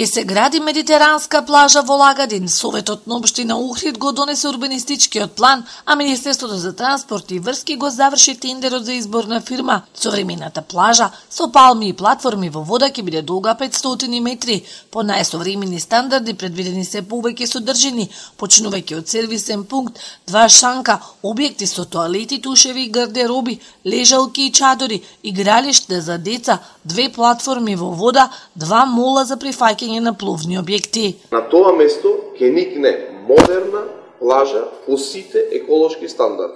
Ке се гради медитеранска плажа во Лагадин. Советот на општина Охрид го донесе урбанистичкиот план, а Министерството за транспорт и врски го заврши тендерот за избор на фирма. Современата плажа со палми и платформи во вода ќе биде долга 500 метри. По најсовремени стандарди предвидени се повеќе содржини, почнувајќи од сервисен пункт, 2 шанка, објекти со тоалети, тушеви и гардероби, лежалки и чадори, игралиште за деца, 2 платформи во вода, 2 мола за прифаќање на пловни објекти. На тоа место ќе никне модерна плажа по сите еколошки стандарди,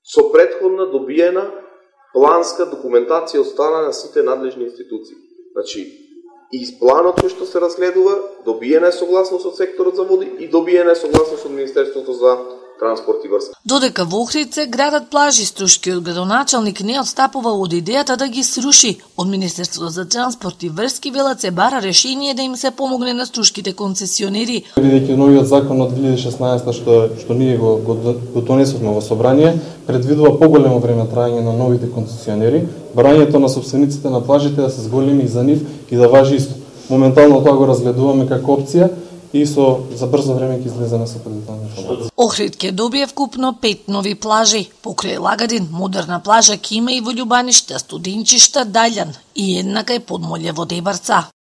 со претходна добиена планска документација од страна на сите надлежни институции. Значи, и планот кој што се разгледува, добиена е согласност од секторот за води и добиена е согласност од Министерството за транспорт и врска. Додека во Охрид се градат плажи, Струшкиот градоначалник не отстапува од идејата да ги сруши. Од Министерството за транспорт и врски велат се бара решение да им се помогне на струшките концесионери. Бидејќи новиот закон од 2016 што ние го донесовме во собрание, предвидува поголемо време траење на новите концесионери, барањето на собствениците на плажите да се зголеми за нив и да важи исто. Моментално тоа го разгледуваме како опција и за брзо време ќе излеземе со предетална информација. Охрид ќе добие вкупно 5 нови плажи. Покрај Лагадин, модерна плажа ќе има и во Љубаниште, Студенчишта, Даљан и една кај Подмолје во Дебарца.